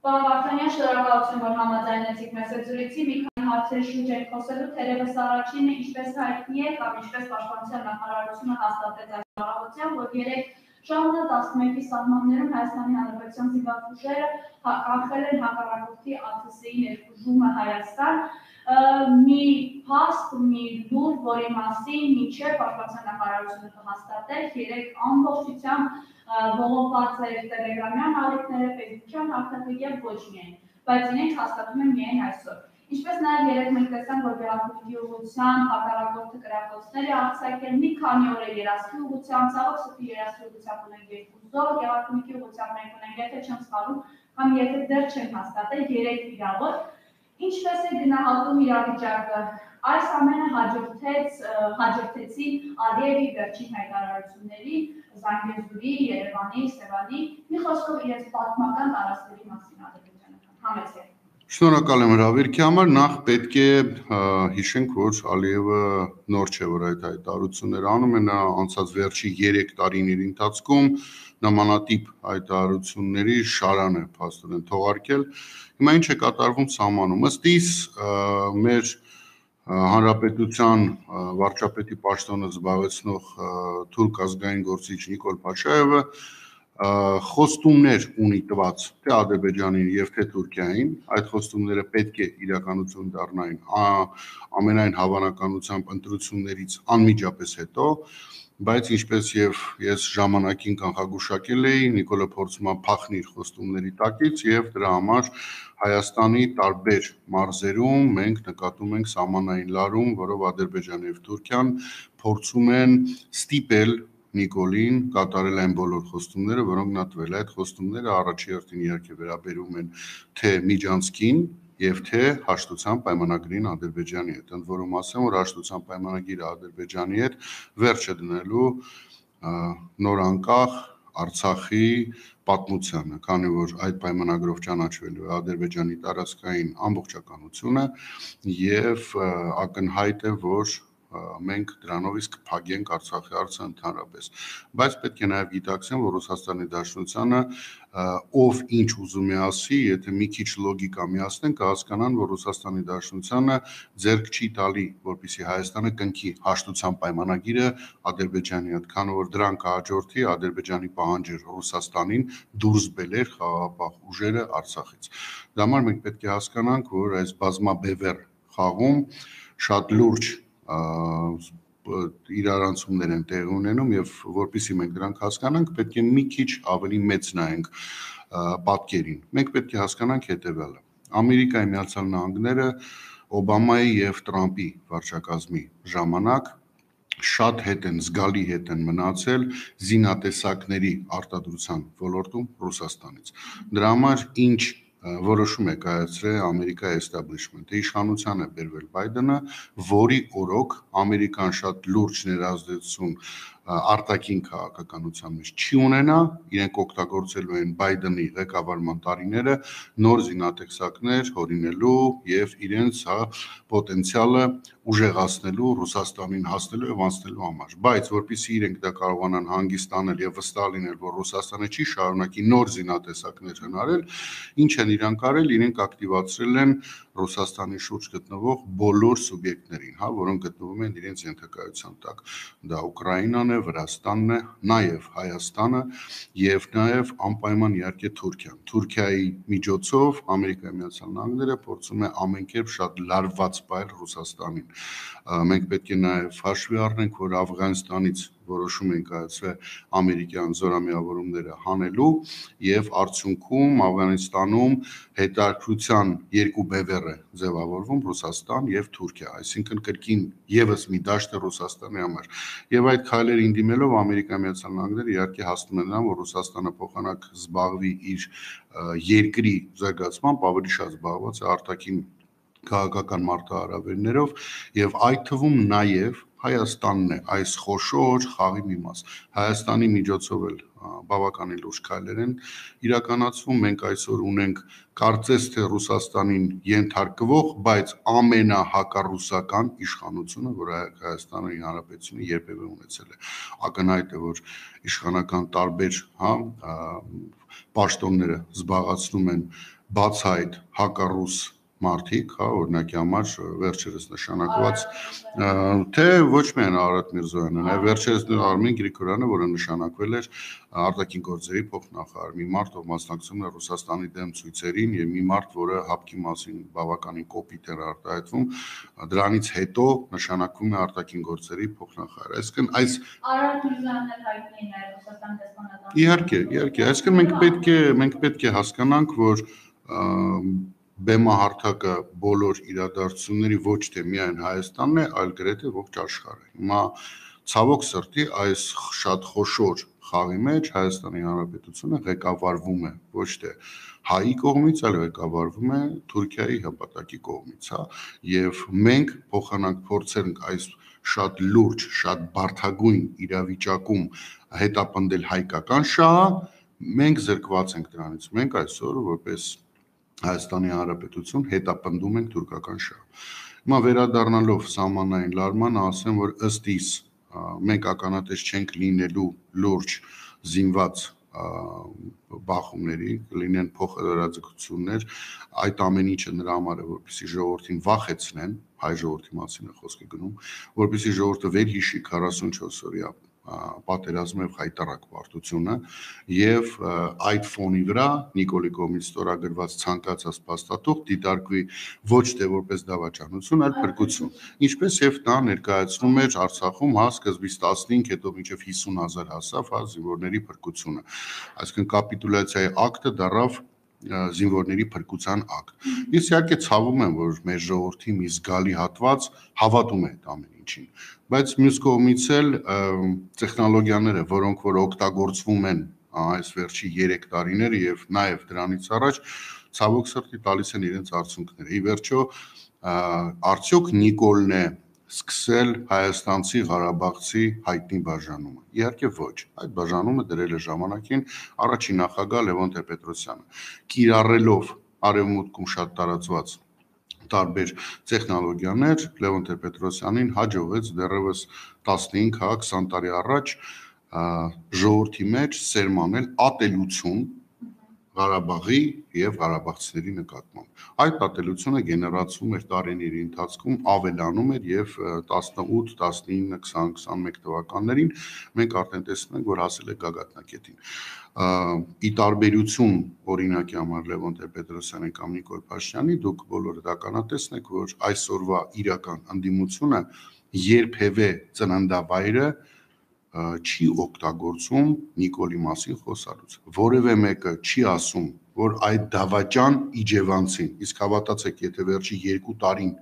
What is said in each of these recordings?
Պարոն Վարդանյան, շնորհակալություն, որ համաձայնեցիք մեզ այդ զրույցի, մի քանի հարցերի շուրջ եք խոսելու, թերևս առաջինը ինչպես հայտնի է կամ ինչպես Պաշտպանության նախարարությունը հաստատեց այս առավոտյան, որ 3 ժամանակ 11-ի սահմաններում Հայաստանի Հանրապետության զինված ուժերը կանխել են հակառակորդի ԱԹՍ-ի ներխուժումը Հայաստան, մի փաստ, մի լուր, որի մասին մինչև Պաշտպանության նախարարությունը կհաստատեր 3 ամբողջությամբ ողողված էր տելեգրամյան ալիքները, Facebook-յան հարթակը եւ ոչ միայն, բայց իրենք հաստատում են միայն այսօր։ Ինչպես նաև երեք մենք տեսանք, որ Գեղարքունիքի ուղղությամբ հակառակորդը կրակոցներ է արձակել, մի քանի օր է Երասխի ուղղությամբ, Ցավոք Սրտի Երասխի ուղղությամբ ունենք 2 զոհ, Գեղարքունիքի ուղղությամբ մենք ունենք, եթե չեմ սխալվում, կամ եթե դեռ չենք հաստատել 3 վիրավոր։ Ինչպես է գնահատում իրավիճակը։ Այս ամենը հաջորդեցին Ալիևի վերջին հայտարարությունների, Զանգեզուրի, Երևանի, Սևանի, մի խոսքով իրենց պատմական տարածքների մասին ադրբեջանական։ Համեցեք։ Շնորհակալ եմ հրավերքի համար, նախ պետք է հիշենք, որ Ալիևը նոր չէ, որ այդ հայտարարությունները անում է, նա անցած վերջի 3 տարիների ընթացքում նմանատիպ հայտարարությունների շարան է փաստորեն թողարկել։ Հիմա ինչ է կատարվում սահմանում։ Ըստ իս մեր Հանրապետության վարչապետի պաշտոնը զբաղեցնող թուրք ազգային գործիչ Նիկոլ Փաշաևը խոստումներ ունի տված թե Ադրբեջանին եւ թե Թուրքիային, այդ խոստումները պետք է իրականություն դառնային ամենայն հավանականությամբ ընտրություններից անմիջապես հետո, բայց ինչպես եւ ես ժամանակին կանխագուշակել էի, Նիկոլը փորձում է փախնի խոստումների տակից եւ դրա համար Հայաստանի տարբեր մարզերում մենք նկատում ենք սահմանային լարում, որով Ադրբեջանը եւ Թուրքիան փորձում են ստիպել Նիկոլին կատարել այն բոլոր խոստումները, որոնք նա տվել է։ Այդ խոստումները առաջի հերթին իհարկե վերաբերում են թե Միջանցքին եւ թե հաշտության պայմանագրին Ադրբեջանի հետ։ Ընդ որում ասեմ, որ հաշտության պայմանագիրը Ադրբեջանի հետ վերջը դնելու նոր անկախ Արցախի պատմությանը, քանի որ այդ պայմանագրով ճանաչվելու է Ադրբեջանի տարածքային ամբողջականությունը եւ ակնհայտ է, որ մենք դրանով իսկ կփակենք Արցախի հարցը ընդհանրապես, բայց պետք է նաև գիտակցեն, որ Ռուսաստանի Դաշնությանը ով ինչ ուզում է ասի, եթե մի քիչ լոգիկա միացնեն, կհասկանան, որ Ռուսաստանի Դաշնությանը ձեռք չի տալի, որպեսզի Հայաստանը կնքի հաշտության պայմանագիրը Ադրբեջանի հետ, քանի որ դրան կհաջորդի Ադրբեջանի պահանջը Ռուսաստանին դուրս բերել խաղաղապահ ուժերը Արցախից։ Դա համար մենք պետք է հասկանանք, որ այս բազմաբևեռ խաղում շատ լուրջ իրարանցումներ են տեղի ունենում եւ որpիսի մենք դրանք հասկանանք, պետք է մի քիչ ավելի մեծ նայենք պատկերին։ Մենք պետք է հասկանանք հետեւյալը. Ամերիկայի Միացյալ Նահանգները Օբամայի եւ Տրամպի վարչակազմի ժամանակ շատ հետ են, զգալի հետ են մնացել զինատեսակների արտադրության ոլորտում Ռուսաստանից։ Դրա համար ինչ որոշում է կայացրել Ամերիկայի էստաբլիշմենթը, իշխանության է բերվել Բայդենը, որի օրոք Ամերիկան շատ լուրջ ներազդեցություն արտաքին քաղաքականության մեջ չի ունենա, իրենք օգտագործելու են Բայդենի ղեկավարման տարիները նոր զինատեսակներ հորինելու եւ իրենց պոտենցիալը ուժեղացնելու, Ռուսաստանին հասնելու եւ անցնելու համար, բայց որpիսի իրենք դա կարողանան հանգստանել եւ վստահ լինել, որ Ռուսաստանը չի շարունակի նոր զինատեսակներ հնարել, ինչ են իրանք արել, իրենք ակտիվացրել են Ռուսաստանի շուրջ գտնվող բոլոր սուբյեկտներին, որոնք գտնվում են իրենց ենթակայության տակ։ Դա Ուկրաինան է, Վրաստանն է, նաեւ Հայաստանը եւ նաեւ անպայման իհարկե Թուրքիան։ Թուրքիայի միջոցով Ամերիկայի Միացյալ Նահանգները փորձում է ամենքերբ շատ լարված պայել Ռուսաստանին։ Մենք պետք է նաեւ հաշվի առնենք, որ Աֆղանստանից որոշում են կայացրել ամերիկյան զորամիավորումները հանելու եւ արդյունքում Աֆղանստանում հետաքրության 2 բևեռ է ձևավորվում Ռուսաստան եւ Թուրքիա, այսինքն կրկին եւս մի դաշտ է Ռուսաստանի համար։ Եվ այդ քայլերին դիմելով Ամերիկայի Միացյալ Նահանգները իհարկե հասնում են նրան, որ Ռուսաստանը փոխանակ զբաղվի իր երկրի զարգացմամբ, ավելի շատ զբաղված է արտաքին քաղաքական մարտահրավերներով եւ այդ թվում նաեւ Հայաստանն է այս խոշոր խաղի մի մաս։ Հայաստանի միջոցով էլ բավականին լուրջ քայլեր են իրականացվում։ Մենք այսօր ունենք կարծես թե Ռուսաստանին ենթարկվող, բայց ամենահակառուսական իշխանությունը, որ Հայաստանի Հանրապետությունը երբևէ ունեցել է։ Ակնհայտ է, որ իշխանական տարբեր պաշտոնները զբաղացնում են բացահայտ հակառուս մարդիկ, հա, օրինակի համար վերջերս նշանակված թե ոչ միայն Արարատ Միրզոյանը, նաև վերջերս Արմեն Գրիգորյանը, որը նշանակվել էր արտաքին գործերի փոխնախարար, մի մարդ, ով մասնակցում է Ռուսաստանի դեմ ցույցերին եւ մի մարդ, որը հապկի մասին բավականին կոպիտ էր արտահայտվում, դրանից հետո նշանակվում է արտաքին գործերի փոխնախարար։ Այսինքն այս Արարատ Միրզոյանն էլ հայտնի է նաև Ռուսաստանի դեսպանատանը։ Իհարկե, այսինքն մենք պետք է հասկանանք, որ բեմահարթակը բոլոր իրադարձությունների ոչ թե միայն Հայաստանն է, այլ գրեթե ողջ աշխարհը։ Հիմա ցավոք սրտի այս շատ խոշոր խաղի մեջ Հայաստանի Հանրապետությունը ղեկավարվում է ոչ թե հայի կողմից, այլ ղեկավարվում է Թուրքիայի հպատակի կողմից, հա, եւ մենք փոխանակ փորձենք այս շատ լուրջ, շատ բարդագույն իրավիճակում հետապնդել հայկական շահը, մենք զրկված ենք դրանից։ Մենք այսօր որպես Հայաստանի Հանրապետություն հետապնդում ենք թուրքական շահը։ Հիմա վերադառնալով սահմանային լարմանը, ասեմ, որ ըստ իս մենք ականատես չենք լինելու լուրջ զինված բախումների, կլինեն փոխհրաձգություններ, այդ ամեն ինչը նրա համար է, որպեսզի ժողովրդին վախեցնեն, հայ ժողովրդի մասին է խոսքը գնում, որպեսզի ժողովուրդը վերհիշի 44 օրյա պատերազմը եւ հայտարարակ պարտությունը եւ այդ ֆոնի վրա Նիկոլի կողմից ստորագրված ցանկացած փաստաթուղթ դիտարկվի ոչ թե որպես դավաճանություն, այլ փրկություն, ինչպես եւ նա ներկայացնում էր Արցախում, հա, սկզբից 15, հետո մինչեւ 50,000 հասավ, հա, զինվորների փրկությունը, այսինքն կապիտուլյացիայի ակտը դառավ զինվորների փրկության ակտ։ Ես իհարկե ցավում եմ, որ մեր ժողովրդի մի զգալի հատված հավատում է այդ ամեն ինչին, բայց մյուս կողմից էլ տեխնոլոգիաները, որոնք որ օգտագործվում են այս վերջի 3 տարիները եւ նաեւ դրանից առաջ, ցավոք սրտի տալիս են իրենց արդյունքները։ Ի վերջո, արդյոք Նիկոլն է սկսել հայաստանցի Ղարաբաղցի հայտնի բաժանումը։ Իհարկե ոչ, այդ բաժանումը դրել է ժամանակին առաջին նախագահ Լևոն Տեր-Պետրոսյանը, կիրառելով արևմուտքում շատ տարածված տարբեր տեխնոլոգիաներ, Լևոն Տեր-Պետրոսյանին հաջողեց դեռևս 15-20 տարի առաջ ժողովրդի մեջ սերմանել ատելություն Ղարաբաղի եւ ղարաբաղցիների նկատմամբ։ Այդ ատելությունը գեներացվում էր տարիների ընթացքում, ավելանում էր եւ 18, 19, 20, 21 թվականներին մենք արդեն տեսնում ենք, որ հասել է գագաթնակետին։ Ի տարբերություն օրինակի համար Լևոն Տեր-Պետրոսյանի կամ Նիկոլ Փաշինյանի, դուք բոլորը ականատեսն եք, որ այսօրվա իրական ընդդիմությունը երբևէ ծննդավայրը չի օգտագործում Նիկոլի մասին խոսալուց։ Որևէ մեկը չի ասում, որ այդ դավաճան իջևանցին, իսկ հավատացեք, եթե վերջի 2 տարին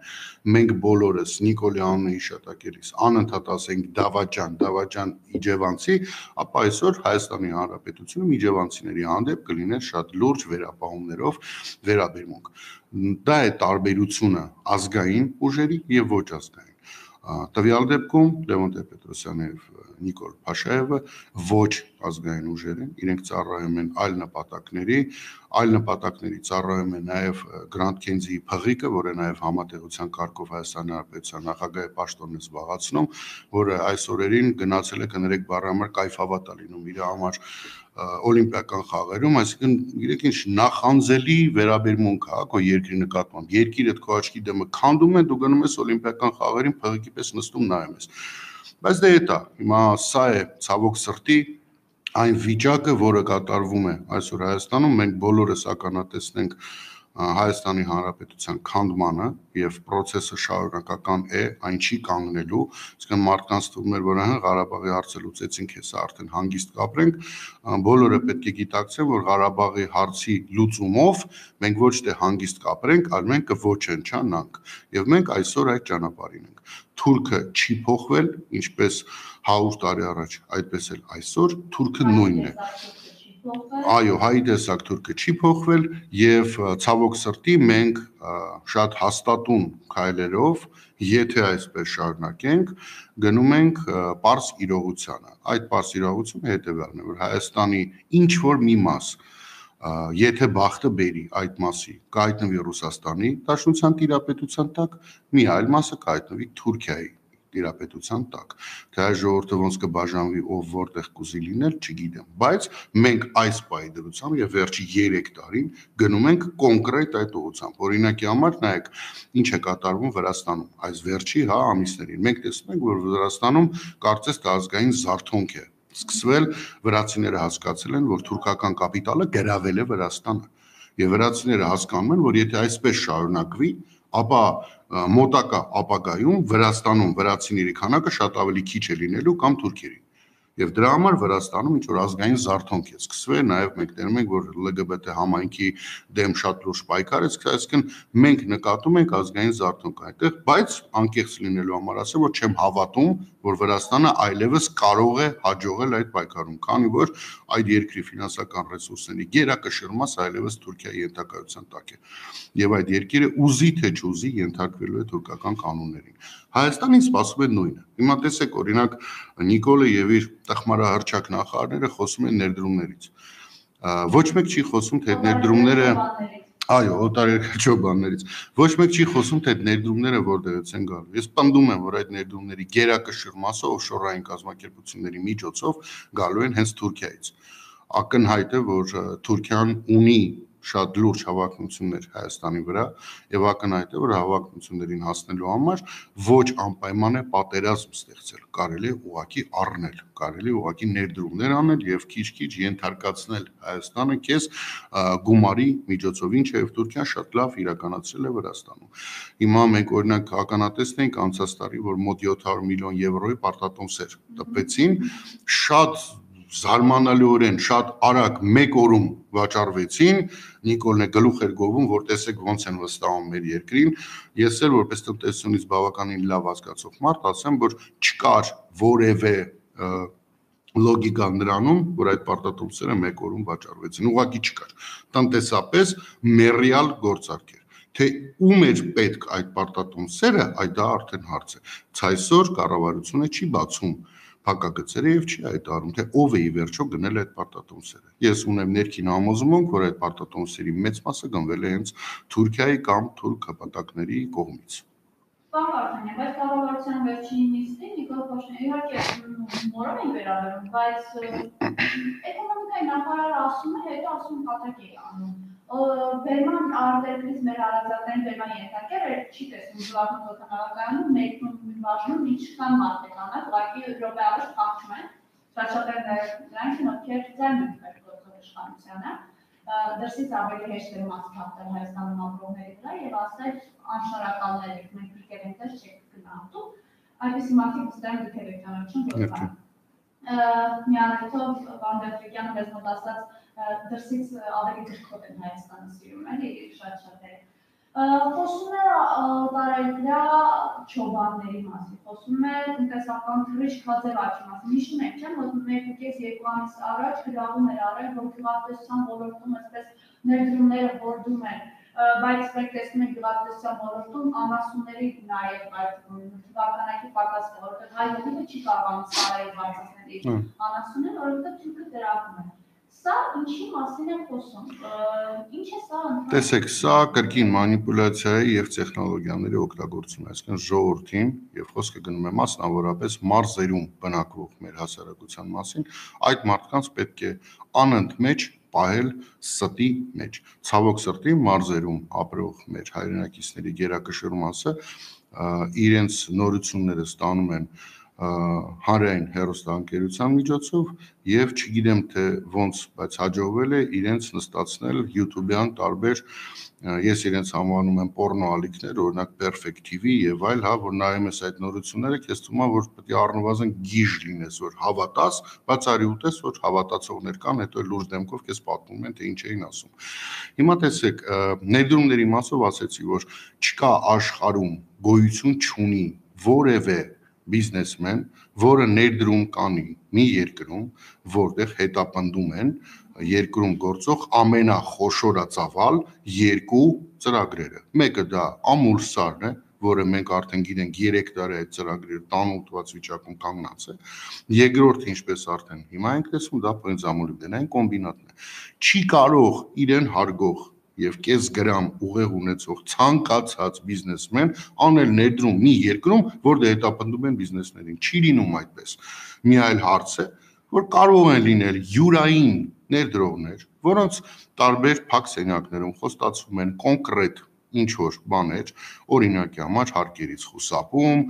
մենք բոլորս Նիկոլի անունը հիշատակելիս անընդհատ ասենք դավաճան իջևանցի, ապա այսօր Հայաստանի Հանրապետությունում իջևանցիների հանդեպ կլիներ շատ լուրջ վերապահումներով վերաբերմունք։ Դա է տարբերությունը ազգային ուժերի եւ ոչ ազգային։ Տվյալ դեպքում Լևոն Տեր-Պետրոսյանը եւ Նիկոլ Փաշաևը ոչ ազգային ուժեր են, իրենք ծառայում են այլ նպատակների ծառայում է նաեւ Գրանդ Քենզիի փղիկը, որը նաեւ համատեղության կարգով Հայաստանի Հանրապետության նախագահի պաշտոնն է զբաղացնում, որը այս օրերին գնացել է կներեք բառի համար կայֆավատ է լինում իր համար օլիմպիական խաղերում, այսինքն գիտեք ինչ նախանձելի վերաբերմունք է քո երկրի նկատմամբ, երկիրը քո աչքի դեմը քանդում է, դու գնում ես օլիմպիական խաղերին փղիկի պես նստում նայում ես։ Բայց դե դա հիմա սա է ցավոք սրտի այն վիճակը, որը կատարվում է այսօր Հայաստանում, մենք բոլորս ականատեսն ենք Հայաստանի Հանրապետության քանդմանը եւ process-ը շարունակական է, այն չի կանգնելու, իսկ մարդկանց թվում էր, որ Ղարաբաղի հարցը լուծեցինք, հեսա արդեն հանգիստ կապրենք, բոլորը պետք է գիտակցեն, որ Ղարաբաղի հարցի լուծումով մենք ոչ թե հանգիստ կապրենք, այլ մենք կոչնչանանք եւ մենք այսօր այդ ճանապարհին ենք։ Թուրքը չի փոխվել, ինչպես 100 տարի առաջ, այդպես էլ այսօր թուրքը նույնն է։ Այո, հայի տեսակ թուրքը չի փոխվել եւ ցավոք սրտի մենք շատ հաստատուն քայլերով, եթե այսպես շարունակենք, գնում ենք պարզ իրողությանը։ Այդ պարզ իրողությունը հետեւյալն է, որ Հայաստանի ինչ որ մի մաս, եթե բախտը բերի այդ մասի, կհայտնվի Ռուսաստանի Դաշնության տիրապետության տակ, մի այլ մասը կհայտնվի Թուրքիայի տիրապետության տակ։ Թե այս ժողովուրդը ոնց կբաժանվի, ով որտեղ կուզի լինել, չգիտեմ, բայց մենք այս պահի դրությամբ եւ վերջի 3 տարին գնում ենք կոնկրետ այդ ուղղությամբ։ Օրինակի համար նայեք, ինչ է կատարվում Վրաստանում այս վերջի ամիսներին։ Մենք տեսնում ենք, որ Վրաստանում կարծես թե ազգային զարթոնք է սկսվել, վրացիները հասկացել են, որ թուրքական կապիտալը գրավել է Վրաստանը։ Եվ վրացիները հասկանում են, որ եթե այսպես շարունակվի, ապա մոտակա ապագայում Վրաստանում վրացիների քանակը շատ ավելի քիչ է լինելու կամ թուրքերի։ Եվ դրա համար Վրաստանում ինչ որ ազգային զարթոնք է սկսվել, նաև մենք տենում ենք, որ LGBT համայնքի դեմ շատ լուրջ պայքար է սկսվել, այսինքն մենք նկատում ենք ազգային զարթոնք այդտեղ, բայց անկեղծ լինելու համար ասեմ, որ չեմ հավատում, որ Վրաստանը այլևս կարող է հաջողել այդ պայքարում, քանի որ այդ երկրի ֆինանսական ռեսուրսների գերակշռումս այլևս Թուրքիայի ենթակայության տակ է։ Եվ այդ երկիրը ուզի թե չուզի ենթարկվելու է թուրքական կանոններին։ Հայաստանին սպասում է նույնը։ Հիմա տեսեք, օրինակ Նիկոլը եւ իր տխմարահռչակ նախարարները խոսում են ներդրումներից։ Ոչ մեկ չի խոսում, թե այդ ներդրումները այո, օտարերկրաչոբաններից։ Ոչ մեկ չի խոսում, թե այդ ներդրումները որտեղից են գալու։ Ես պնդում եմ, որ այդ ներդրումների գերակշռ մասը օֆշորային կազմակերպությունների միջոցով գալու են հենց Թուրքիայից։ Ակնհայտ է, որ Թուրքիան ունի շատ լուրջ հավակնություններ Հայաստանի վրա եւ ակնհայտ է, որ հավակնություններին հասնելու համար ոչ անպայման է պատերազմ ստեղծել, կարելի է ուղղակի առնել, կարելի է ուղղակի ներդրումներ անել եւ քիչ-քիչ ենթարկացնել Հայաստանը քեզ գումարի միջոցով, ինչը եւ Թուրքիան շատ լավ իրականացրել է Վրաստանում։ Հիմա մենք օրինակ ականատեսն ենք անցած տարի, որ մոտ 700 միլիոն եվրոյի պարտատոմսեր տպեցին, շատ զարմանալիորեն շատ արագ մեկ օրում վաճառվեցին, Նիկոլն է գլուխ էր գովում, որ տեսեք ոնց են վստահում մեր երկրին, ես էլ որպես տնտեսությունից բավականին լավ հասկացող մարդ ասեմ, որ չկար որևէ լոգիկա նրանում, որ այդ պարտատոմսերը մեկ օրում վաճառվեցին, ուղղակի չկար, տնտեսապես մեռյալ գործարք էր, թե ում էր պետք այդ պարտատոմսերը, այդ դա արդեն հարց է, ցայսօր կառավարությունը չի բացում փակագծերը եւ չի հայտարարում, թե ով է ի վերջո գնել այդ պարտատոմսերը։ Ես ունեմ ներքին համոզմունք, որ այդ պարտատոմսերի մեծ մասը գնվել է հենց Թուրքիայի կամ թուրք հպատակների կողմից։ Պարոն Վարդանյան, բայց կառավարության վերջին նիստին Նիկոլ Փաշինյանը իհարկե մորով են վերաբերում, բայց էկոնոմիկայի նախարարը ասում է, հետո ասում կատակ է անում։ Բերման արտերկրից մեր հարազատային բերման ենթարկել չի տեսնում զվարթուն օդանավակայանում ներքնում բաժնում ինչքան մարդ է կանած, ուղղակի րոպե առաջ փախչում են, շատ նրանք ովքեր ձայն են գործող իշխանությանը, դրսից ավելի հեշտ է մաս թափել Հայաստանում ապրողների վրա եւ ասել անշարակալներ եք, մենք դիքեր ենք դες չեք գնահատում, այդպիսի մարդիկ վստահ դուք եք ճանաչում որքան։ Միառիթով Վանդերֆիկյանը մեզ մոտ ասած դրսից ավելի գրքոտ են Հայաստանը սիրում, էլի շատ-շատերը։ Խոսում է տարերկրյա չոբանների մասին, խոսում է տնտեսական թռիչք հաձևաչի մասին, հիշում եք, չէ՞, որ 1.5-2 ամիս առաջ գրավում էր արել, որ գյուղատնտեսության ոլորտում այսպես ներդրումները որդում են, բայց մենք տեսնում ենք գյուղատնտեսության ոլորտում անասունների նաև այդ թվականակի պակաս է, որովհետև հայ հողիվը չի կարողանում սարայի բարձրացնել իր անասունները, որովհետև թուրքը դրախում է։ Սա ինչի մասին է խոսում, ինչ է սա ընդհանուր։ Տեսեք, սա կրկին մանիպուլյացիայի եւ տեխնոլոգիաների օգտագործում է, այսինքն ժողովրդին եւ խոսքը գնում է մասնավորապես մարզերում բնակվող մեր հասարակության մասին, այդ մարդկանց պետք է անընդմեջ պահել ստի մեջ։ Ցավոք սրտի մարզերում ապրող մեր հայրենակիցների գերակշռ մասը իրենց նորությունները ստանում են հանրային հեռուստաընկերության միջոցով եւ չգիտեմ թե ոնց, բայց հաջողվել է իրենց նստացնել YouTube-յան տարբեր ես իրենց համանում եմ պորնո ալիքներ, օրինակ Perfect TV եւ այլ, որ նայում ես այդ նորությունները, քեզ թվում է, որ պետք է առնվազն գիժ լինես, որ հավատաս, բայց արի ուտես, որ հավատացողներ կան, հետո լուրջ դեմքով քեզ պատմում են, թե ինչ էին ասում։ Հիմա տեսեք, ներդրումների մասով ասեցի, որ չկա աշխարհում գոյություն չունի որևէ բիզնեսմեն, որը ներդրում կանի մի երկրում, որտեղ հետապնդում են երկրում գործող ամենախոշորածավալ երկու ծրագրերը։ Մեկը դա Ամուլսարն է, որը մենք արդեն գիտենք 3 տարի այդ ծրագրերը տանուտված վիճակում կանգնած է։ Երկրորդը, ինչպես արդեն հիմա ենք տեսնում, դա պենզամոլիբդենային կոմբինատն է։ Չի կարող իրեն հարգող եւ կես գրամ ուղեղ ունեցող ցանկացած բիզնեսմեն անել ներդրում մի երկրում, որտեղ հետապնդում են բիզնեսներին, չի լինում այդպես։ Մի այլ հարց է, որ կարող են լինել յուրային ներդրողներ, որոնց տարբեր փակ սենյակներում խոստացվում են կոնկրետ ինչ-որ բաներ, օրինակի համար հարկերից խուսափում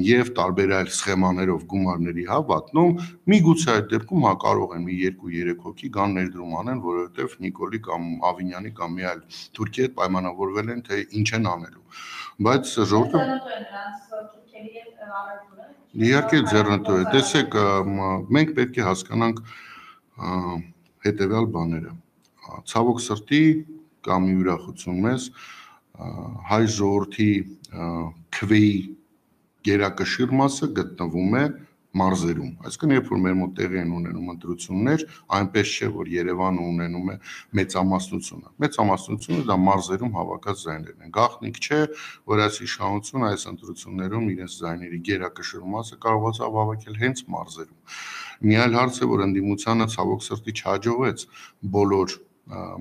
եւ տարբեր այլ սխեմաներով գումարների հավատնում, միգուցե այդ դեպքում կարող են մի 2-3 հոգի գան ներդրում անեն, որովհետեւ Նիկոլի կամ Ավինյանի կամ մի այլ թուրքի հետ պայմանավորվել են, թե ինչ են անելու։ Բայց ժողովուրդը իհարկե ձեռնտու է։ Տեսեք, մենք պետք է հասկանանք հետեւյալ բաները։ Ցավոք սրտի կամ մի ուրախություն մեզ հայ ժողովրդի քվեի գերակշիռ մասը գտնվում է մարզերում, այսինքն երբ որ մեր մոտ տեղի են ունենում ընտրություններ, այնպես չէ, որ Երևանը ունենում է մեծամասնությունը։ Մեծամասնությունը դա մարզերում հավաքած ձայներն են։ Գաղտնիք չէ, որ այս իշխանությունը այս ընտրություններում իրենց ձայների գերակշիռ մասը կարողացավ հավաքել հենց մարզերում։ Մի այլ հարց է, որ ընդդիմությանը ցավոք սրտի չհաջողվեց բոլոր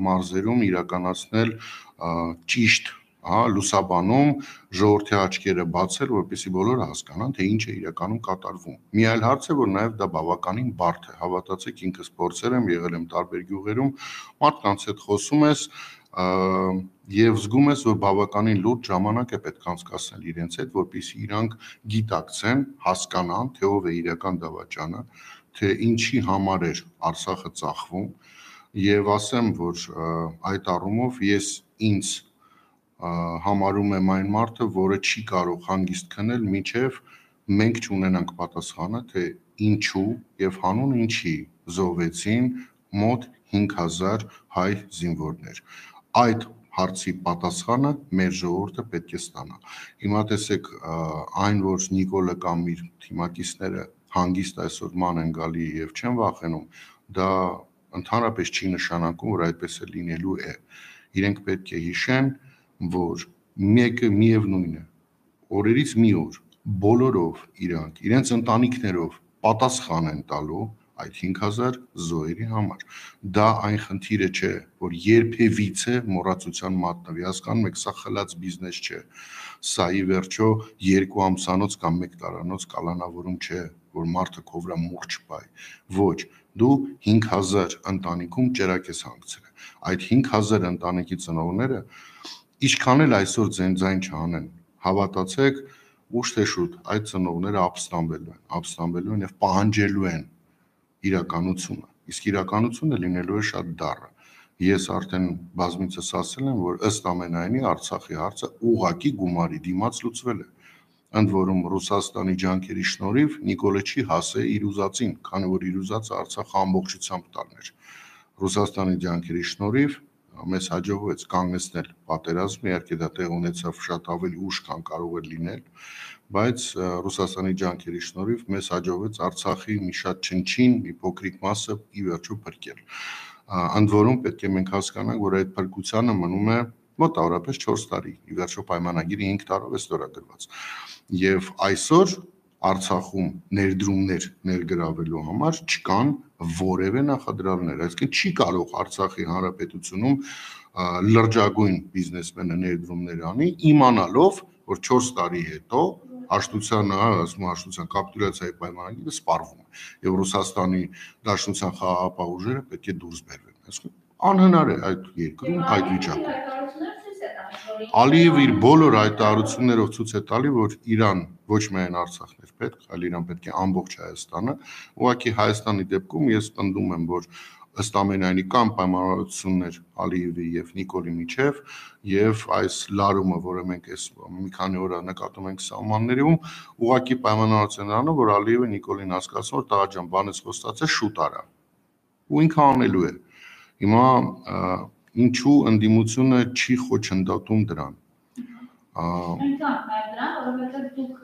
մարզերում իրականացնել ճիշտ լուսաբանում ժողովրդի աչքերը բացել, որպեսզի բոլորը հասկանան, թե ինչ է իրականում կատարվում։ Մի այլ հարց է, որ նաև դա բավականին բարդ է։ Հավատացեք, ինքս փորձել եմ, եղել եմ տարբեր գյուղերում, մարդկանց հետ խոսում ես եւ զգում ես, որ բավականին լուրջ ժամանակ է պետք անցկացնել իրենց հետ, որպեսզի իրանք գիտակցեն, հասկանան, թե ով է իրական դավաճանը, թե ինչի համար է Արցախը ծախվում, եւ ասեմ, որ այդ առումով ես ինձ համարում եմ այն մարդը, որը չի կարող հանգիստ քնել, մինչև մենք չունենանք պատասխանը, թե ինչու եւ հանուն ինչի զոհվեցին մոտ 5000 հայ զինվորներ։ Այդ հարցի պատասխանը մեր ժողովուրդը պետք է ստանա։ Հիմա տեսեք, այն որ Նիկոլը կամ իր թիմակիցները հանգիստ այսօր ման են գալի եւ չեն վախենում, դա ընդհանրապես չի նշանակում, որ այդպես է լինելու է։ Իրենք պետք է հիշեն, որ մեկը միևնույն է, օրերից մի օր բոլորով իրանք իրենց ընտանիքներով պատասխան են տալու այդ 5000 զոհերի համար։ Դա այն խնդիրը չէ, որ երբևիցե մոռացության մատնվի, հասկանում եք, սա խլած բիզնես չէ, սա ի վերջո 2 ամսանոց կամ 1 տարանոց կալանավորում չէ, որ մարդը քո վրա մուրճ պայ, ոչ, դու 5000 ընտանիքում ճերակ ես հանգցրել, այդ 5000 ընտանիքի ծնողները ինչքան էլ այսօր ձայն չանեն, հավատացեք, ուշ թե շուտ այդ ծնողները ապստամբելու են եւ պահանջելու են իրականությունը, իսկ իրականությունը լինելու է շատ դառը։ Ես արդեն բազմիցս ասել եմ, որ ըստ ամենայնի Արցախի հարցը ուղղակի գումարի դիմաց լուծվել է։ Ընդ որում Ռուսաստանի ջանքերի շնորհիվ Նիկոլը չի հասել իր ուզածին, քանի որ իր ուզածը Արցախը ամբողջությամբ տալներ։ Ռուսաստանի ջանքերի շնորհիվ մեզ հաջողվեց կանգնեցնել պատերազմը, իհարկե դա տեղ ունեցավ շատ ավելի ուշ, քան կարող էր լինել, բայց Ռուսաստանի ջանքերի շնորհիվ մեզ հաջողվեց Արցախի մի շատ չնչին, մի փոքրիկ մասը ի վերջո փրկել։ Ընդ որում պետք է մենք հասկանանք, որ այդ փրկությանը մնում է մոտավորապես 4 տարի, ի վերջո պայմանագիրը 5 տարով է ստորագրված։ Եվ այսօր Արցախում ներդրումներ ներգրավելու համար չկան որևէ նախադրյալներ, այսինքն չի կարող Արցախի հանրապետությունում լրջագույն բիզնեսմենը ներդրումներ անի, իմանալով, որ 4 տարի հետո հաշտության կապիտուլյացիայի պայմանագիրը սպառվում է եւ Ռուսաստանի Դաշնության խաղաղապահ ուժերը պետք է դուրս բերվեն, այսինքն անհնար է այդ երկրում այդ վիճակում։ Ալիևը իր բոլոր հայտարարություններով ցույց է տալի, որ Իրան ոչ միայն Արցախն է պետք, այլ Իրան պետք է ամբողջ Հայաստանը։ Ուղղակի Հայաստանի դեպքում ես պնդում եմ, որ ըստ ամենայնի կան պայմանավորվածություններ Ալիևի եւ Նիկոլի միջեւ եւ այս լարումը, որը մենք այս մի քանի օր նկատում ենք սահմաններում, ուղղակի պայմանավորվածությունն է, որ Ալիևը Նիկոլին հասկացնում, որ տղա ջան, բանից խոստացել շուտ արա։ Ու ինքը անելու է։ Հիմա ինչու ընդդիմությունը չի խոչընդոտում դրան։ Այնքան նաև դրան, որովհետև դուք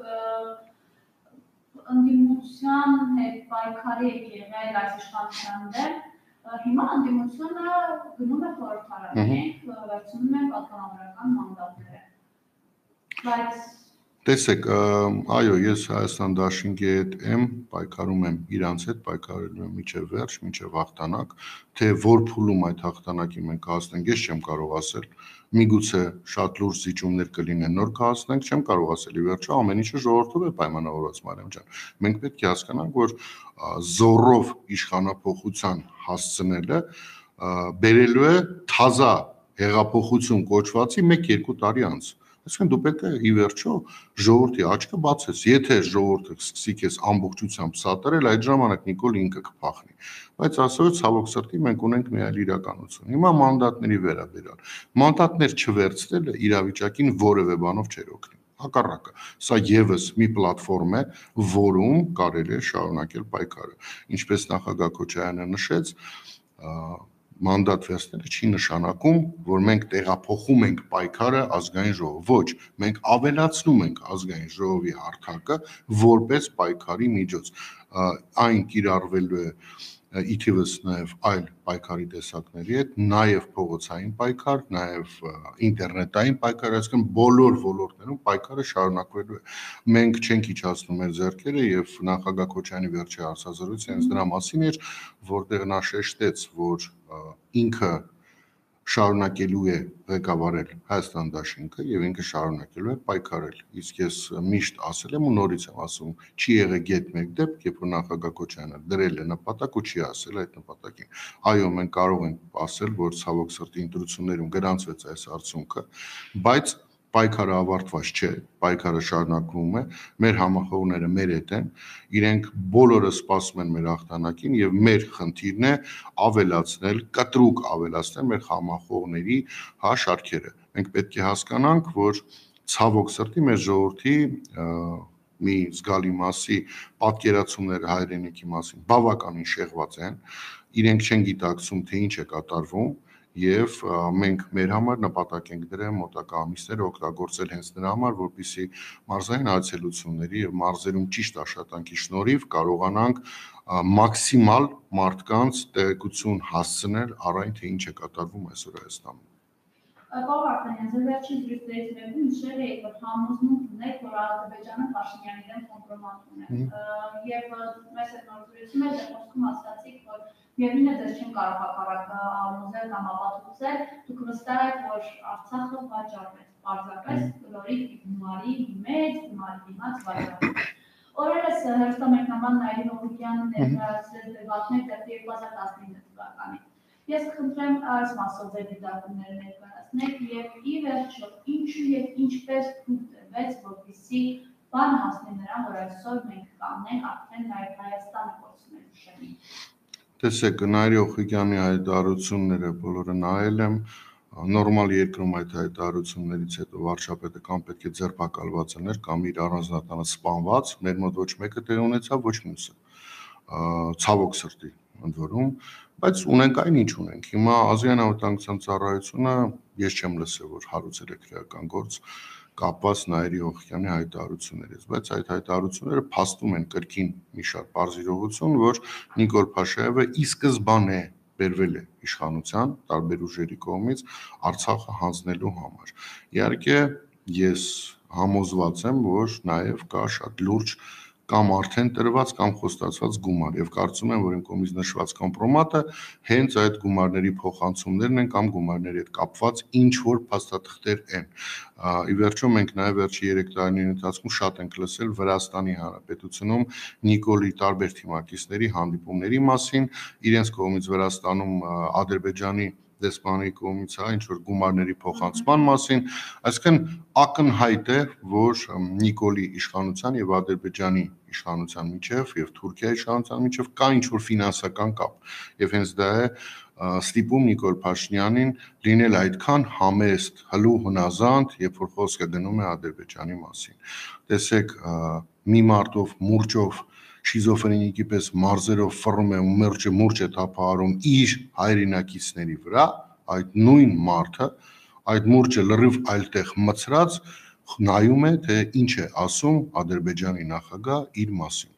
ընդդիմության հետ պայքարի եք եղել այս իշխանության դեմ, հիմա ընդդիմությունը գնում է խորհրդարան, վերցնում է պատգամավորական մանդատները։ Բայց Տեսեք, այո, ես Հայաստան դաշինքի հետ եմ, պայքարում եմ իրանց հետ, պայքարելու եմ մինչև վերջ, մինչև հաղթանակ, թե որ փուլում այդ հաղթանակի մենք կհասնենք, ես չեմ կարող ասել, միգուցե շատ լուրջ զիջումներ կլինեն, նոր կհասնենք, չեմ կարող ասել, ի վերջո ամեն ինչը ժողովրդով է պայմանավորված, Մարիամ ջան։ Մենք պետք է հասկանանք, որ զոռով իշխանափոխության հասցնելը բերելու է թազա հեղափոխություն կոչվածի 1-2 տարի անց։ Այսինքն դու պետք է ի վերջո ժողովրդի աչքը բացես։ Եթե ժողովուրդը սկսի քեզ ամբողջությամբ սատարել, այդ ժամանակ Նիկոլ ինքը կփախնի։ Բայց ասած ցավոք սրտի մենք ունենք մի այլ իրականություն։ Հիմա մանդատների վերաբերյալ։ Մանդատներ չվերցնելը իրավիճակին որևէ բանով չէր օգնի։ Հակառակը, սա եւս մի պլատֆորմ է, որում կարելի է շարունակել պայքարը։ Ինչպես նախագահ Քոչարյանը նշեց, մանդատ վերցնելը չի նշանակում, որ մենք տեղափոխում ենք պայքարը ազգային ժողով։ Ոչ, մենք ավելացնում ենք ազգային ժողովի հարթակը որպես պայքարի միջոց։ Այն կիրառվելու է ի թիվս նաև այլ պայքարի տեսակների հետ, նաև փողոցային պայքար, նաև ինտերնետային պայքար, այսինքն բոլոր ոլորտներում պայքարը շարունակվելու է։ Մենք չենք իջացնում մեր ձեռքերը եւ նախագահ Քոչարյանի վերջի հարցազրույցը հենց դրա մասին էր, որտեղ նա շեշտեց, որ ինքը շարունակելու է ղեկավարել Հայաստան դաշինքը եւ ինքը շարունակելու է պայքարել։ Իսկ ես միշտ ասել եմ ու նորից եմ ասում, չի եղել գետ մեկ դեպք, երբ որ նախագահ Քոչարյանը դրել է նպատակ ու չի ասել այդ նպատակին։ Այո, մենք կարող ենք ասել, որ ցավոք սրտի ընտրություններում գրանցվեց այս արդյունքը, բայց պայքարը ավարտված չէ, պայքարը շարունակվում է, մեր համախոհները մեր հետ են, իրենք բոլորը սպասում են մեր հաղթանակին եւ մեր խնդիրն է ավելացնել, կտրուկ ավելացնել մեր համախոհների շարքերը։ Մենք պետք է հասկանանք, որ ցավոք սրտի մեր ժողովրդի մի զգալի մասի պատկերացումները հայրենիքի մասին բավականին շեղված են, իրենք չեն գիտակցում, թե ինչ է կատարվում եւ մենք մեր համար նպատակ ենք դրել մոտակա ամիսները օգտագործել հենց նրա համար, որպեսզի մարզային այցելությունների եւ մարզերում ճիշտ աշխատանքի շնորհիվ կարողանանք մաքսիմալ մարդկանց տեղեկություն հասցնել առայն թե ինչ է կատարվում այսօր Հայաստանում։ Պարոն Վարդանյան, ձեր վերջին զրույցներից մեկում նշել եք, որ համոզմունք ունեք, որ Ադրբեջանը Փաշինյանի դեմ կոմպրոմատ ունի։ Եվ մեզ այդ նոր զրույցում էլ խոսքում ասացիք, որ միևնույն է դες չեն կարող հակառակը համոզել կամ ապացուցել, դուք վստահ եք, որ Արցախը վաճառվեց, պարզապես լորի գումարի մեջ, գումարի դիմաց վաճառվեց։ Օրերս հերոստամեկնաբան Նայիրին Օղուկյանն ներկայացրել դեպքեր դեպի 2019 թվականին։ Ես կխնդրեմ այս մասով ձեր դիտարկումները ներկայացնեք եւ ի վերջո ինչու եւ ինչպես թույլ տրվեց, որպեսզի բան հասնի նրան, որ այսօր մենք կանենք արդեն նաեւ Հայաստանը կորցնելու շեմին։ Տեսեք, Նայիրի Օղուկյանի հայտարարությունները բոլորը նայել եմ, նորմալ երկրում այդ հայտարարություններից հետո վարչապետը կամ պետք է ձերբակալված լիներ կամ իր առանձնատանը սպանված, մեր մոտ ոչ մեկը տեղ ունեցավ, ոչ մյուսը։ Ցավոք սրտի ընդ որում, բայց ունենք այն ինչ ունենք։ Հիմա Ազգային անվտանգության ծառայությունը ես չեմ լսել, որ հարուցել է քրեական գործ կապված Նայիրի Օղուկյանի հայտարարություններից, բայց այդ հայտարարությունները փաստում են կրկին մի շատ բարձ իրողություն, որ Նիկոլ Փաշաևը ի սկզբանե բերվել է իշխանության տարբեր ուժերի կողմից Արցախը հանձնելու համար։ Իհարկե, ես համոզված եմ, որ նաև կա շատ լուրջ կամ արդեն տրված կամ խոստացված գումար եւ կարծում եմ, որ իմ կողմից նշված կոմպրոմատը հենց այդ գումարների փոխանցումներն են կամ գումարների հետ կապված ինչ որ փաստաթղթեր են։ Ի վերջո մենք նաև վերջի 3 տարիների ընթացքում շատ ենք լսել Վրաստանի Հանրապետությունում Նիկոլի տարբեր թիմակիցների հանդիպումների մասին, իրենց կողմից Վրաստանում Ադրբեջանի դեսպանի կողմից ինչ որ գումարների փոխանցման մասին, այսինքն ակնհայտ է, որ Նիկոլի իշխանության եւ Ադրբեջանի իշխանության միջև եւ Թուրքիայի իշխանության միջև կա ինչ որ ֆինանսական կապ եւ հենց դա է ստիպում Նիկոլ Փաշինյանին լինել այդքան համեստ, հլու հնազանդ, երբ որ խոսքը գնում է Ադրբեջանի մասին։ Տեսեք, մի մարտով մուրճով շիզոֆրենիկի պես մարզերով ֆռում է ու մուրճ է թափահարում իր հայրենակիցների վրա, այդ նույն մարդը, այդ մուրճը լրիվ այլտեղ մցրած նայում է, թե ինչ է ասում Ադրբեջանի նախագահ իր մասին։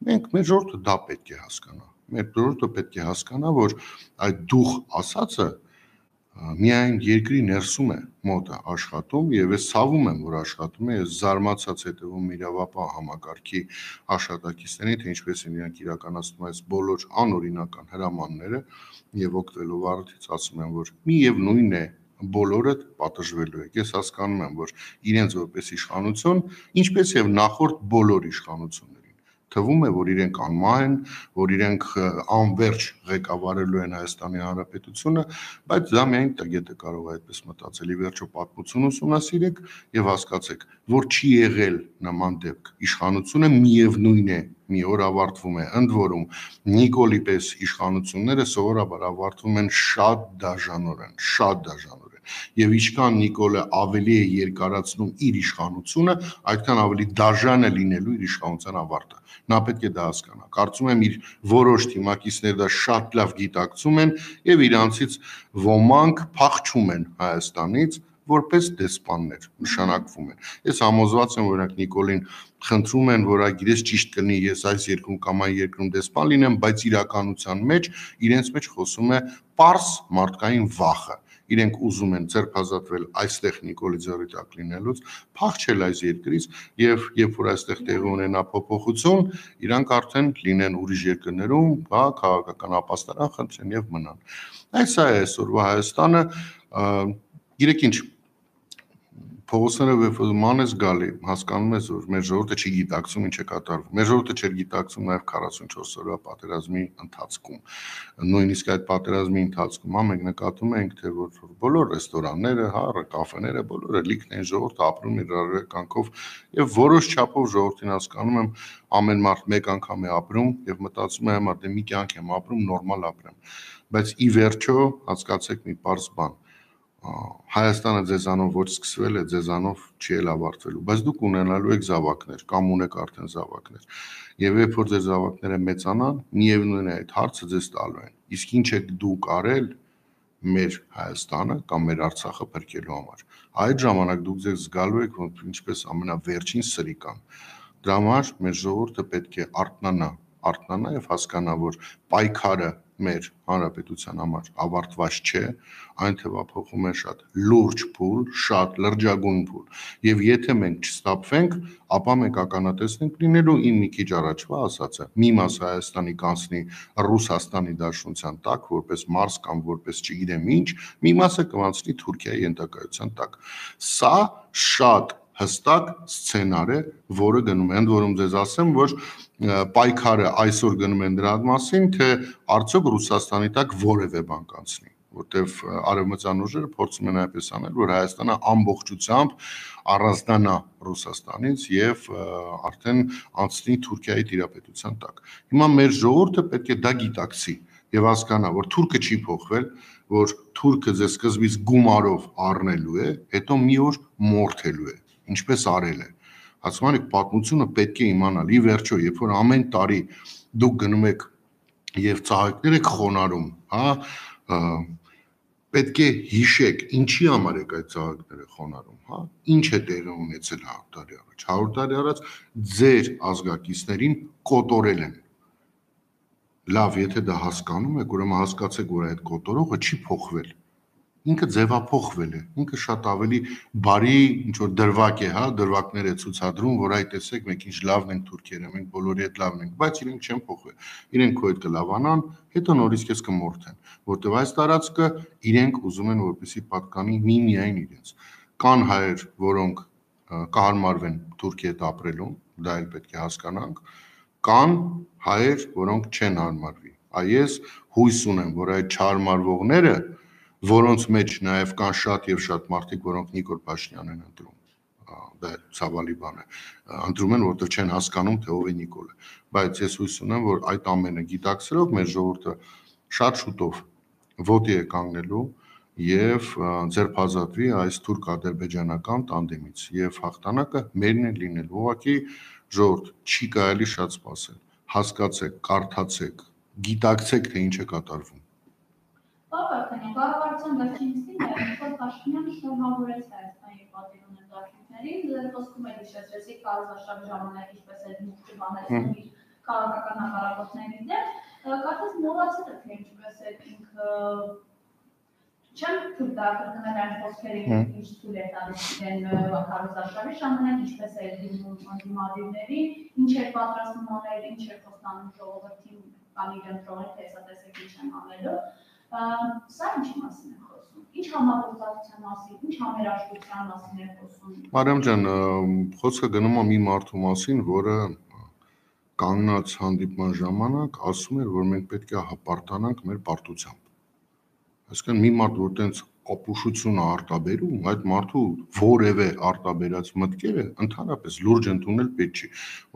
Մենք մեր ժողովուրդը դա պետք է հասկանա։ Մեր ժողովուրդը պետք է հասկանա, որ այդ դուխ ասածը միայն երկրի ներսում է մոտը աշխատում եւ ես ցավում եմ, որ աշխատում է, ես զարմացած հետևում իրավապահ համակարգի աշխատակիցներին, թե ինչպես են իրանք իրականացնում այս բոլոր անօրինական հրամանները եւ օգտվելով առիթից ասում են, որ միևնույն է բոլորը պատժվելու է։ Ես հասկանում եմ, որ իրենց որպես իշխանություն, ինչպես եւ նախորդ բոլոր իշխանություններին թվում է, որ իրենք անմահ են, որ իրենք անverջ ղեկավարելու են Հայաստանի Հանրապետությունը, բայց դա միայն տգետը կարող է այդպես մտածել։ Ի վերջո պատմություն ուսումնասիրեք եւ հասկացեք, որ չի եղել նման դեպք։ Իշխանությունը միևնույն է, մի օր ավարտվում է, ընդ որում Նիկոլի պես իշխանությունները սովորաբար ավարտվում են շատ դաժանորեն։ Եվ ինչքան Նիկոլը ավելի է երկարացնում իր իշխանությունը, այդքան ավելի դաժան է լինելու իր իշխանության ավարտը։ Նա պետք է դա հասկանա։ Կարծում եմ իր որոշ թիմակիցներ դա շատ լավ գիտակցում են եւ իրանցից ոմանք փախչում են Հայաստանից որպես դեսպաններ նշանակվում են։ Ես համոզված եմ, որ նրանք Նիկոլին խնդրում են, որ այգիրես ճիշտ կլինի ես այս երկրում կամ այն երկրում դեսպան լինեմ, բայց իրականության մեջ իրենց մեջ խոսում է պարզ մարդկային վախը։ Իրենք ուզում են ձերբազատվել այստեղ Նիկոլի ձեռի տակ լինելուց, փախչել այս երկրից եւ երբ որ այստեղ տեղի ունենա փոփոխություն, իրանք արդեն լինեն ուրիշ երկրներում, հա, քաղաքական ապաստարան խնդրեն եւ մնան։ Այս է այսօրվա Հայաստանը, գիտեք ինչ, փողոցները ման ես գալի, հասկանում ես, որ մեր ժողովուրդը չի գիտակցում ինչ է կատարվում։ Մեր ժողովուրդը չէր գիտակցում նաև 44 օրվա պատերազմի ընթացքում։ Նույնիսկ այդ պատերազմի ընթացքում մենք նկատում ենք, թե որ բոլոր ռեստորանները, հա, կաֆեները, բոլորը լիքն են, ժողովուրդը ապրում իր առերեկանքով եւ որոշ չափով ժողովրդին հասկանում եմ, ամեն մարդ մեկ անգամ է ապրում եւ մտածում է համար դե մի կյանք եմ ապրում, նորմալ ապրեմ։ Բայց ի վերջո հասկացեք մի պարզ բան, Հայաստանը ձեզանով ոչ սկսվել է, ձեզանով չի էլ ավարտվելու, բայց դուք ունենալու եք զավակներ, կամ ունեք արդեն զավակներ, եւ երբ որ ձեր զավակները մեծանան, միևնույն է այդ հարցը ձեզ տալու են, իսկ ինչ եք դուք արել մեր Հայաստանը կամ մեր Արցախը փրկելու համար, այդ ժամանակ դուք ձեզ զգալու եք, որ ինչպես ամենավերջին սրիկան, դրա համար մեր ժողովուրդը պետք է արթնանա եւ հասկանա, որ պայքարը մեր հանրապետության համար ավարտված չէ, այն թվափոխում է շատ լուրջ փուլ, շատ լրջագույն փուլ։ Եվ եթե մենք չստապվենք, ապա մենք ականատեսենք լինելու իմ մի քիչ առաջվա ասածը, մի մաս Հայաստանի կանցնի Ռուսաստանի Դաշնության տակ, որպես Մարս կամ որպես չգիտեմ ինչ, մի մասը կվանցնի Թուրքիայի ենթակայության տակ։ Սա շատ հստակ սցենար է, որը գնում է, ընդ որում ձեզ ասեմ, որ պայքարը այսօր գնում են դրա մասին, թե արդյոք Ռուսաստանի տակ որևէ բան կանցնի, որտեվ արևմտյան ուժերը փորձում են այնպես անել, որ Հայաստանը ամբողջությամբ առանձնանա Ռուսաստանից եւ արդեն անցնի Թուրքիայի տիրապետության տակ։ Հիմա մեր ժողովուրդը պետք է դա գիտակցի եւ հասկանա, որ թուրքը չի փոխվել, որ թուրքը ձեզ սկզբից գումարով առնելու է, հետո մի օր մորթելու է, ինչպես արել է։ Ասում եք պատմությունը պետք է իմանալ։ Ի վերջո, երբ որ ամեն տարի դուք գնում եք եւ ծաղիկներ եք խոնարհում, հա, պետք է հիշեք, ինչի համար եք այդ ծաղիկները խոնարհում, հա, ինչ է տեղի ունեցել 100 տարի առաջ։ 100 տարի առաջ ձեր ազգակիցներին կոտորել են։ Լավ, եթե դա հասկանում եք, ուրեմն հասկացեք, որ այդ կոտորողը չի փոխվել։ Ինքը ձևափոխվել է, ինքը շատ ավելի բարի ինչ-որ դրվակ է, հա, դրվակներ է ցուցադրում, որ այ տեսեք, մենք ինչ լավն ենք թուրքերը, մենք բոլորի հետ լավն ենք, բայց իրենք չեն փոխվել։ Իրենք քո հետ կլավանան, հետո նորից քեզ կմորթեն, որտեվ այս տարածքը իրենք ուզում են, որպեսզի պատկանի միայն իրենց։ Կան հայեր, որոնք կհարմարվեն Թուրքիի հետ ապրելուն, դա էլ պետք է հասկանանք, կան հայեր, որոնք չեն հարմարվի։ Այս հույս ունեմ, որ այդ չհարմարվողները, որոնց մեջ նաև կան շատ եւ շատ մարդիկ, որոնք Նիկոլ Փաշինյանն են ընտրում, դա ցավալի բան է, ընտրում են, որովհետեւ չեն հասկանում, թե ով է Նիկոլը, բայց ես հույս ունեմ, որ այդ ամենը գիտակցելով մեր ժողովուրդը շատ շուտով ոտի է կանգնելու եւ ձերբազատվի այս թուրք-ադրբեջանական տանդեմից եւ հաղթանակը մերն է լինելու։ Ուղղակի ժողովուրդ չի կարելի շատ սպասել, հասկացեք, կարդացեք, գիտակցեք, թե ինչ է կատարվում։ Բարոյական, կառավարության վերջին նիստին Նիկոլ Փաշինյանը շնորհավորեց Հայաստանի պատիվ ունեն դաշնություններին, ձեր խոսքում եք հիշեցրեցիք կառավարության ժամանակ ինչպես է մուտք բանեցնում իր քաղաքական հակառակորդների դեմ, կարծես մոռացել եք թե ինչպես է ինքը Չեմ թույլ տա կրկնել այն խոսքերը, ինչ թույլ է տալիս իրեն քարոզարշավի ժամանակ, ինչպես է դիմում ընդդիմադիրների, ինչ է պատրաստում անել, ինչ է խոստանում ժողովրդին կամ իր ընտրողին, թե հեսա տեսեք ինչ եմ անելու, սա ինչի մասին է խոսում, ինչ համագործակցության մասին, ինչ համերաշխության մասին է խոսում։ Մարիամ ջան, խոսքը գնում է մի մարդու մասին, որը կանգնած հանդիպման ժամանակ ասում էր, որ մենք պետք է հպարտանանք մեր պարտությամբ։ Այսինքն մի մարդ, որ տենց ապուշություն է արտաբերում, այդ մարդու որևէ արտաբերած մտքերը ընդհանրապես լուրջ ընդունել պետք չի,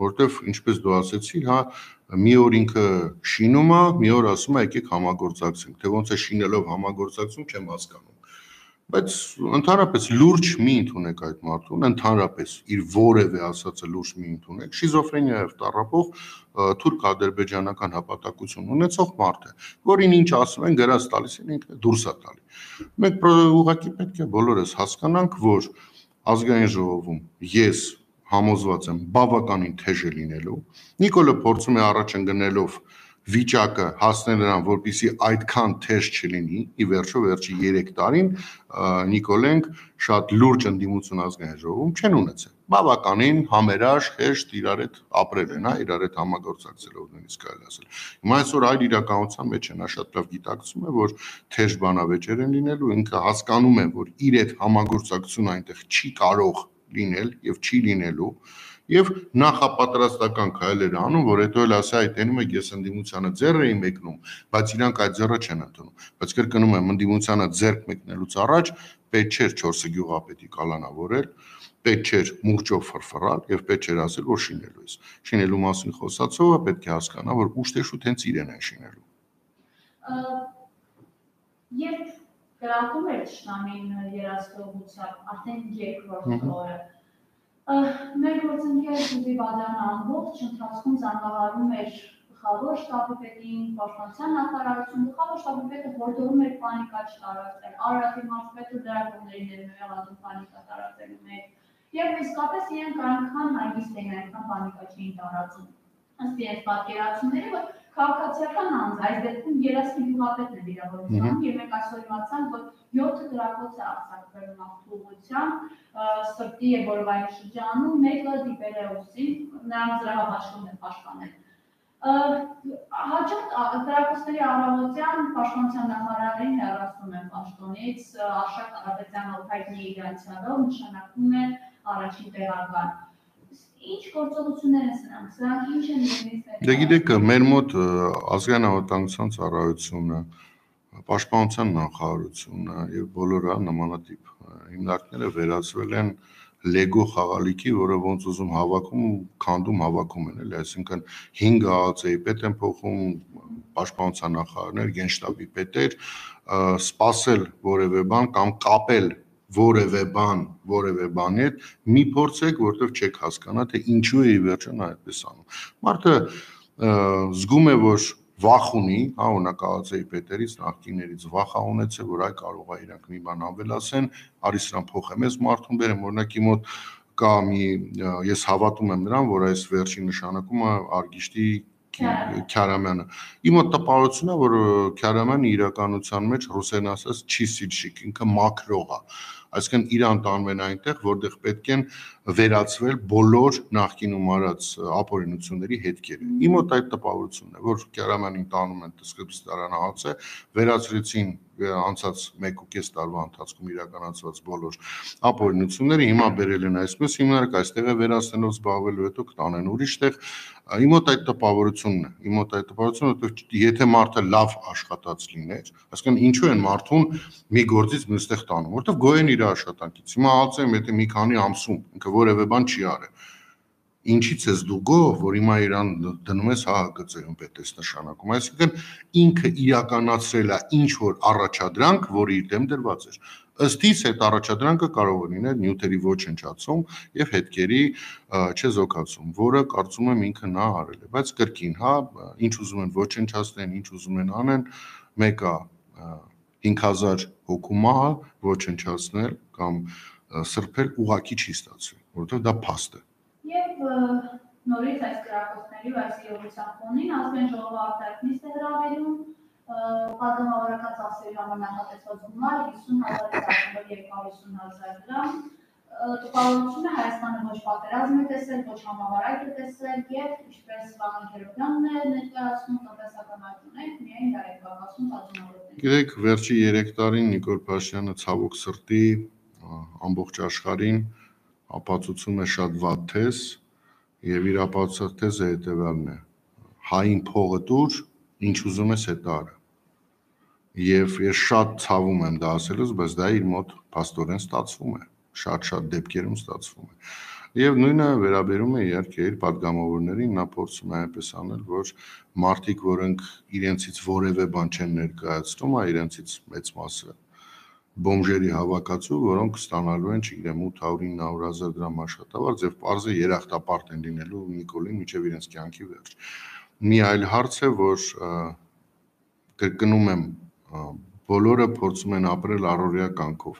որովհետև ինչպես դու ասեցիր, հա, մի օր ինքը շինում է, մի օր ասում է եկեք համագործակցենք, թե ոնց է շինելով համագործակցում, չեմ հասկանում։ Բայց ընդհանրապես լուրջ մի ընդունեք այդ մարդուն, ընդհանրապես իր որևէ ասածը լուրջ մի ընդունեք, շիզոֆրենիայով տառապող թուրք-ադրբեջանական հպատակություն ունեցող մարդ է, որին ինչ ասում են գրած տալիս են, ինքը դուրս է տալի։ Մենք ուղղակի պետք է բոլորս հասկանանք, որ ազգային ժողովում ես համոզված եմ բավականին թեժ է լինելու։ Նիկոլը փորձում է առաջ ընկնելով վիճակը հասնել նրան, որպեսզի այդքան թեժ չլինի, ի վերջո վերջի 3 տարին Նիկոլենք շատ լուրջ ընդդիմություն ազգային ժողովում չեն ունեցել։ Բավականին համերաշխ, հեշտ իրար հետ ապրել են, հա, իրար հետ համագործակցելով նույնիսկ կարելի ասել։ Հիմա այսօր այլ իրականության մեջ են, նա շատ լավ գիտակցում է, որ թեժ բանավեճեր են լինելու, ինքը հասկանում է, որ իր հետ համագործակցությունը այնտեղ չի կարող լինել եւ չի լինելու, եւ նախապատրաստական քայլեր անում, որ հետո էլ ասա այդ տենում եք ես ընդդիմությանը ձեռ էի մեկնում, բայց իրանք այդ ձեռը չեն ընդունում։ Բայց կրկնում եմ, ընդդիմությանը ձեռք մեկնելուց առաջ պետք չէր 4 գյուղապետի կալանավորել, պետք չէր մուրճով ֆրֆռալ եւ պետք չէր ասել, որ շինելու ես։ Շինելու մասին խոսացողը պետք է հասկանա, որ ուշտեշուտ հենց իրեն են շինելու։ Երբ գրավում էր Չնամին երասխողությամբ, արդեն երկրորդ օրը մեր գործընկեր Զուզի Բադյանը ամբողջ ընթացքում զանգահարում էր գլխավոր շտաբի պետին, պաշտպանության նախարարություն, գլխավոր շտաբի պետը հորդորում էր պանիկա չտարածել, Արարատի մարզպետը լրագրողներին էր մեղադրում պանիկա տարածելու մեջ, եւ իսկապես իրենք այնքան հանգիստ էին, այնքան պանիկա չէին տարածում։ Ըստ իրենց պատկերացումների, որ քաղաքացիական անձ, այս դեպքում Երասխի գյուղապետն է վիրավորության, եւ մենք այսօր իմացանք, որ 7 գրակոց է արձակվել նախուղությամբ, Սրտի եւ Որվայի շրջանում, մեկը դիպել է ուսին, նրանց զրահապաշտպանն է պաշտպանել։ Հաջորդ գրակոծների առավոտյան պաշտպանության նախարարին հեռացնում են պաշտոնից, Արշակ Կարապետյանը հայտնի իր անցյալով նշանակվում է առաջին տեղական։ Ինչ գործողություններ են սրանք ինչ են նույնիսկ։ Դե գիտեք, մեր մոտ ազգային անվտանգության ծառայությունը, պաշտպանության նախարարությունը եւ բոլոր նմանատիպ հիմնարկները վերածվել են լեգո խաղալիքի, որը ոնց ուզում հավաքում, քանդում հավաքում են, էլի, այսինքն 5 ԱԱՑ-ի պետ են փոխում, պաշտպանության նախարարներ, գենշտաբի պետեր, սпасել որևէ բան կամ կապել որևէ բանի հետ մի փորձեք, որտեղ չեք հասկանա, թե ինչու է ի վերջո նա այդպես անում։ Մարդը զգում է, որ վախ ունի, հա, օրինակ ԱԱՑ-ի պետերից, նախկիններից վախ է ունեցել, որ այ կարող է իրանք մի բան ավելացեն, արի սրան փոխեմ, ես մարդուն բերեմ, օրինակ իմ մոտ կա մի, ես հավատում եմ նրան, որ այս վերջի նշանակումը Արգիշտի Քյարամյանը։ Իմ մոտ տպավորություն է, որ Քյարամյանը իրականության մեջ ռուսերեն ասած չի սիլշիկ, ինքը մաքրող է։ Այսինքն իրան տանում են այնտեղ, որտեղ պետք են վերացվել բոլոր նախկինում արած ապօրինությունների հետքերը։ Իմ մոտ այդ տպավորությունն է, որ Քյարամյանին տանում են սկզբստարան ԱԱՑ, վերացրեցին անցած 1.5 տարվա ընթացքում իրականացված բոլոր ապօրինությունները, հիմա բերել են այսպես հիմնարկ, այստեղ է վերացնելով զբաղվելու, հետո կտանեն ուրիշտեղ։ Իմ մոտ այդ տպավորությունն է, իմ մոտ այդ տպավորությունը, որ եթե մարդը լավ աշխատած լիներ, այսինքն ինչու են մարդուն մի գործից մյուստեղ տանում, որովհետև գոյեն իր աշխատանքից։ Հիմա ասեմ, եթե մի քանի ամսում ինքը որևէ բան չի արել, ինչից ես դու գոհ, որ հիմա իրան դնում ես ՀՀԿ-ում պետ ես նշանակում, այսինքն ինքը իրականացրել է ինչ որ առաջադրանք, որը իր դեմ դրված էր։ Ըստ իս այդ առաջադրանքը կարող է լինել նյութերի ոչնչացում եւ հետքերի չեզոքացում, որը կարծում եմ ինքը նա արել է, բայց կրկին, հա, ինչ ուզում են ոչնչացնեն, ինչ ուզում են անեն, մեկը 5000 հոգու մահը ոչնչացնել կամ սրբել ուղակի չի ստացվի, որովհետև դա փաստ է։ Եվ նորից այս գրակոծների ու այս իրողության ֆոնին ազգային ժողովը արտահայտիչ է հրավերում Պատգամավորական ծախսերի համար նախատեսված գումար 50,000-ից 250,000 դրամ։ Տպավորությունը Հայաստանը ոչ պատերազմ է տեսել, ոչ համավարակ է տեսել եւ ինչպես Վահան Քերոբյանն է ներկայացնում տնտեսական այդ ունենք, միայն դա է կապացում պատժամավորներին։ Գիտեք, վերջի 3 տարին Նիկոլ Փաշինյանը ցավոք սրտի ամբողջ աշխարհին ապացուցում է շատ վատ թեզ եւ իր ապացուցած թեզը հետեւյալն է. հային փողը տուր, ինչ ուզում ես հետո արա։ Եվ ես շատ ցավում եմ դա ասելուց, բայց դա իր մոտ փաստորեն ստացվում է, շատ դեպքերում ստացվում է։ Եվ նույնը վերաբերում է իհարկե իր падգամավորներին, նա փորձում է այնպես անել, որ մարդիկ, որոնք իրենցից որևէ բան չեն ներկայացնում, իրենցից մեծ մասը բոմժերի հավաքածու, որոնք ստանալու են, չգիտեմ, 800-900,000 դրամ աշխատավարձ եւ պարզը երախտապարտ են լինելու Նիկոլին մինչեւ իրենց կյանքի վերջ։ Մի այլ հարց է, որ կրկնում եմ, բոլորը փորձում են ապրել առօրյա կյանքով,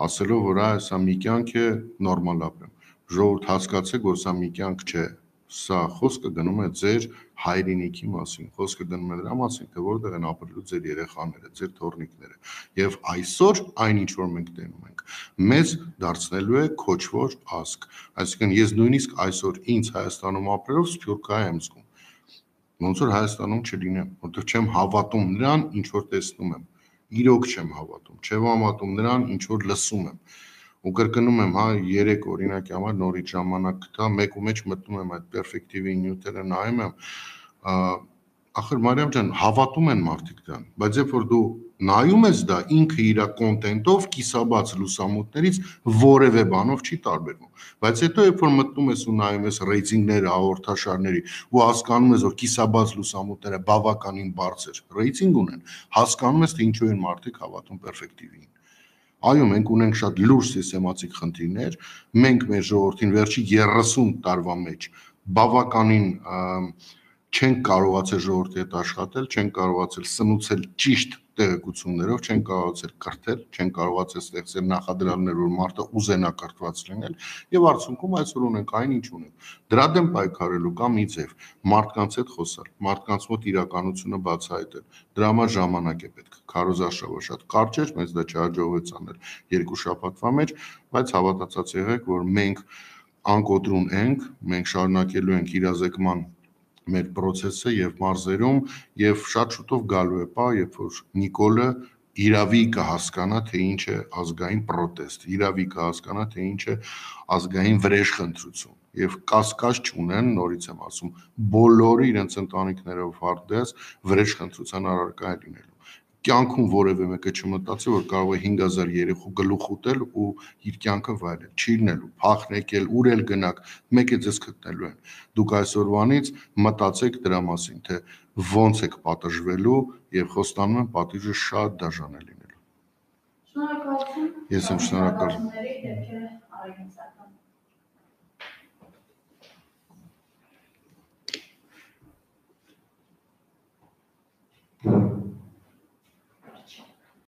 ասելով, որ սա մի կյանք է, նորմալ ապրեմ։ Ժողովուրդ հասկացեք, որ սա մի կյանք չէ։ Սա խոսքը գնում է ձեր հայրենիքի մասին, խոսքը գնում է դրա մասին, թե որտեղ են ապրելու ձեր երեխաները, ձեր թոռնիկները։ Եվ այսօր այնինչ որ մենք տենում ենք, մեզ դարձնելու է քոչվոր ազգ։ Այսինքն ես նույնիսկ այսօր ինձ Հայաստանում ապրելով սփյուռքահայ եմ զգում։ Ոնց որ Հայաստանում չլինեմ, որովհետև չեմ հավատում նրան, ինչ որ տեսնում եմ։ Իրոք չեմ հավատում, չեմ հավատում նրան, ինչ որ լսում եմ։ Ու կրկնում եմ, 3 օրինակի համար նորից ժամանակ գտա, մեկու մեջ մտնում եմ այդ պերֆեկտիվի նյութերը նայում եմ, ախր Մարիամ ջան, հավատում են մարդիկ դրան, բայց երբ որ դու նայում ես դա, ինքը իր կոնտենտով կիսաբաց լուսամուտներից որևէ բանով չի տարբերվում։ Բայց հետո երբ որ մտնում ես ու նայում ես ռեյտինգները, հաղորդաշարների ու հասկանում ես, որ կիսաբաց լուսամուտները բավականին բարձր ռեյտինգ ունեն, հասկանում ես, թե ինչու են մարդիկ հավատում պերֆեկտիվին։ Այո, մենք ունենք շատ լուրջ սիստեմատիկ խնդիրներ, մենք մեր ժողովրդին վերջի 30 տարվա մեջ բավականին չենք կարողացել ժողովրդի հետ աշխատել, չենք կարողացել սնուցել ճիշտ տեղեկություններով, չենք կարողացել կրթել, չենք կարողացել ստեղծել նախադրյալներ, որ մարդը ուզենա կրթված լինել, եւ արդյունքում այսօր ունենք այն, ինչ ունենք։ Դրա դեմ պայքարելու կա մի ձև, մարդկանց հետ խոսալ, մարդկանց մոտ իրականությունը բացահայտել։ Դրա համար ժամանակ է պետք։ Քարոզարշավը շատ կարճ էր, մեզ դա չհաջողվեց անել 2 շաբաթվա մեջ, բայց հավատացած եղեք, որ մենք անկոտրուն ենք, մենք շարունակելու ենք իրազեկման մեր process-ը եւ մարզերում եւ շատ շուտով գալու է պահ, երբ որ Նիկոլը իրավի կհասկանա, թե ինչ է ազգային պրոտեստ, իրավի կհասկանա, թե ինչ է ազգային վրեժխնդրություն եւ կասկած չունեն, նորից եմ ասում, բոլորը իրենց ընտանիքներով հարդես վրեժխնդրության առարկա է լինելու։ Կյանքում որևէ մեկը չմտածի, որ կարող է 5000 երեխու գլուխ ուտել ու իր կյանքը վայելել, չի լինելու, փախ եկել, ուր էլ գնաք, մեկ է ձեզ գտնելու են։ Դուք այսօրվանից մտածեք դրա մասին, թե ոնց եք պատժվելու եւ խոստանում եմ պատիժը շատ դաժան է լինելու։ Շնորհակալություն։ Ես եմ շնորհակալ։